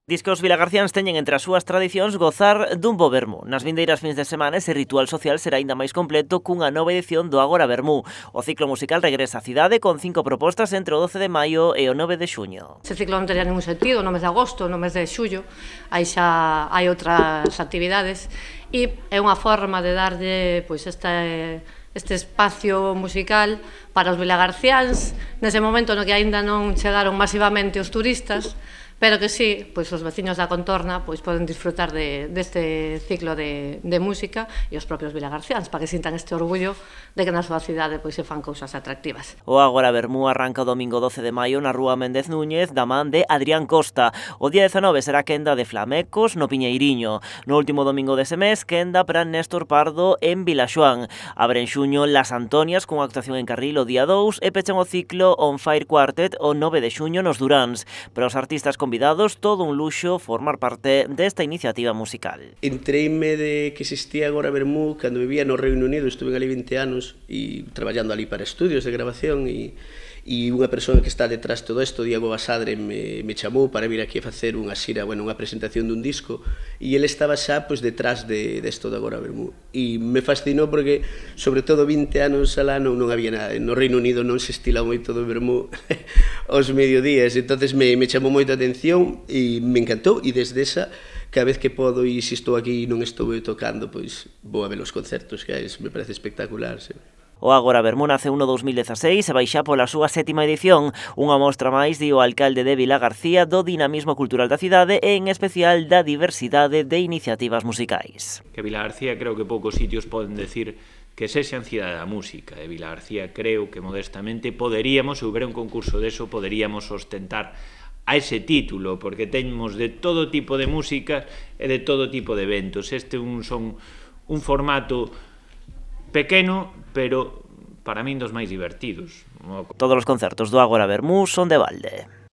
Diz que os vilagarciáns teñen entre as súas tradicións gozar dun bo vermú. Nas vindeiras fins de semana ese ritual social será aínda máis completo cunha nova edición do Agora Vermú. O ciclo musical regresa á cidade con 5 propostas entre o 12 de maio e o 9 de xuño. Ese ciclo non tería ningún sentido no mes de agosto, no mes de xullo, aí xa hai outras actividades e é unha forma de darlle pois este espacio musical para os vilagarciáns nese momento no que aínda non chegaron masivamente os turistas, pero que sí, pois os veciños da contorna pois poden disfrutar deste ciclo de música e os propios vilagarciáns para que sintan este orgullo de que na súa cidade pois se fan cousas atractivas. O Agora Vermú arranca o domingo 12 de maio na rúa Méndez Núñez da man de Adrián Costa. O día 19 será quenda de Flamecos no Piñeiriño. No último domingo dese mes, quenda para Néstor Pardo en Vilaxoán. Abre en xuño Las Antonias cunha actuación en Carril o día 2 e pechan o ciclo On Fire Quartet o 9 de xuño nos Duráns. Para os artistas convidados, todo un luxo formar parte desta iniciativa musical. Entreime de que existía Agora Vermú cando vivía no Reino Unido, estuve ali 20 anos e traballando ali para estudios de grabación e unha persoa que está detrás de todo isto, Diego Basadre, me chamou para vir aquí a facer unha xira, unha presentación dun disco e ele estaba xa pois, detrás desto de Agora Vermú e me fascinou porque, sobre todo 20 anos alá non había nada, no Reino Unido non se estila moito do Vermú aos mediodías, entonces me chamou moita atención e me encantou e desde esa cada vez que podo e se estou aquí e non estou tocando, pois vou a ver os concertos que hai, me parece espectacular, sí. O Agora Vermú nace no 2016 e vai xa pola súa 7ª edición, unha mostra máis, di o alcalde de Vilagarcía, do dinamismo cultural da cidade e en especial da diversidade de iniciativas musicais. Que Vilagarcía creo que poucos sitios poden decir que sexan cidade da música, e Vilagarcía creo que modestamente poderíamos, se houbera un concurso deso, poderíamos ostentar a ese título, porque temos de todo tipo de música e de todo tipo de eventos. Este son un formato pequeno, pero para min dos máis divertidos. Todos os concertos do Agora Vermú son de balde.